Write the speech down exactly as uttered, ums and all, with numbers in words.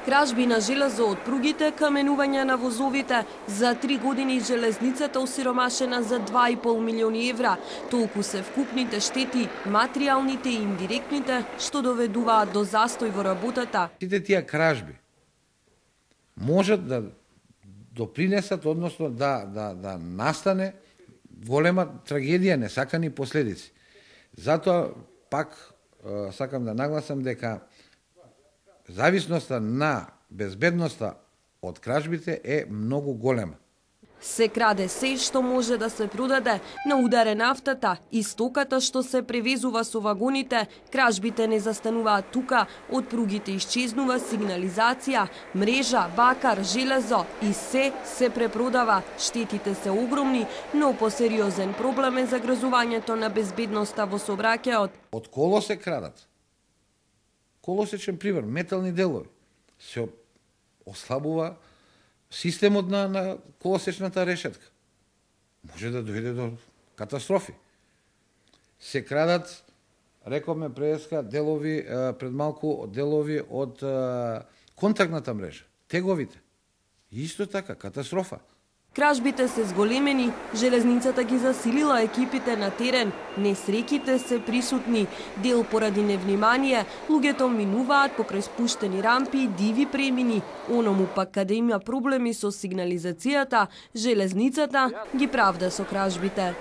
Кражби на железо од пругите, каменување на возовите. За три години железницата осиромашена за два и пол милиони евра. Толку се вкупните штети, материјалните и индиректните, што доведуваат до застој во работата. Сите тие кражби можат да допринесат, односно да, да, да настане голема трагедија, несакани последици. Затоа пак сакам да нагласам дека зависноста на безбедноста од кражбите е многу голема. Се краде се што може да се продаде, на ударе нафтата и стоката што се превезува со вагоните. Кражбите не застануваат тука, од пругите исчезнува сигнализација, мрежа, бакар, железо и се се препродава. Штетите се огромни, но посериозен проблем е загрозувањето на безбедноста во сообраќајот. Од коло се крадат. Колосечен пример, метални делови. Се ослабува системот на, на колосечната решетка. Може да дојде до катастрофи. Се крадат, рековме преска, делови, пред малку, делови од контактната мрежа, теговите. Исто така, катастрофа. Кражбите се зголемени, железницата ги засилила екипите на терен, несреќите се присутни, дел поради невнимание, луѓето минуваат покрај спуштени рампи и диви премини. Оному пак каде има проблеми со сигнализацијата, железницата ги правда со кражбите.